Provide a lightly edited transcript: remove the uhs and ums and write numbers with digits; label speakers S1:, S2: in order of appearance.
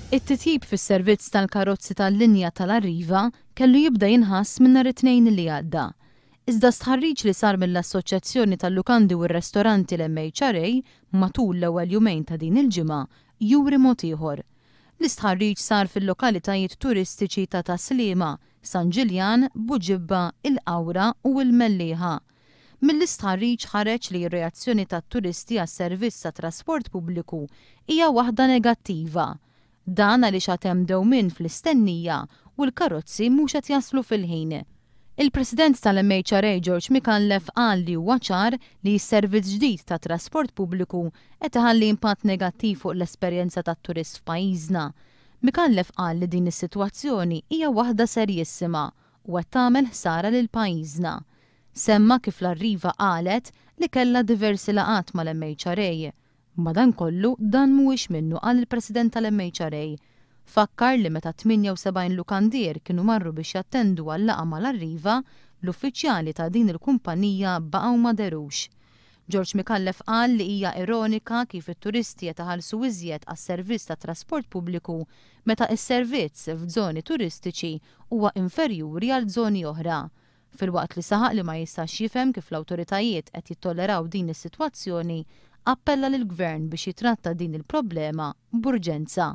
S1: It-titjib fis-servizz tal-karozzi tal-linja tal-Arriva kellu jibda jinħass minn nhar it-Tnejn li għadda. Iżda stħarriġ li sar mill-Assoċjazzjoni tal-Lukandi u r-Restoranti l-MHRA matul l-ewwel jumejn ta' din il-ġimgħa juri mod ieħor. L-istħarriġ sar fil-lokalitajiet turistiċi ta' Tas-Sliema, San Ġiljan, Buġibba, il-Qawra u l-Mellieħa. Mill-istħarriġ ħareġ li r-reazzjoni tat-turisti għas-servizz tat-trasport pubbliku hija waħda negattiva. Dan għaliex għad hemm dewmien fl-istennija u l-karozzi mhux qed jaslu fil-ħin. Il-President tal-MHRA George Micallef qal li huwa ċar li s-servizz ġdid tat-trasport pubbliku qed iħalli impatt negattiv fuq l-esperjenza tat-turist f'pajjiżna. Micallef qal li din is-sitwazzjoni hija waħda serjissima u qed tagħmel ħsara lil pajjiżna. Semma kif l-Arriva qalet li kellha diversi laqgħat mal-MHRA. Madankollu, dan mhuwiex minnu qal il-President tal-MHRA. Fakkar li meta 78 lukandier kienu marru biex jattendu għal laqgħa mal-Arriva, l-uffiċjali ta' din il-kumpanija baqgħu ma dherux. George Micallef qal li hija ironika kif it-turisti qed iħallsu iżjed għas-servizz tat-trasport pubbliku meta s-servizz f'żoni turistiċi huwa inferjuri għal żoni oħra. Filwaqt li saħaq li ma jistax jifhem kif l-awtoritajiet qed jittolleraw din is-sitwazzjoni, appella lill-Gvern biex jitratta din il-problema b'urġenza.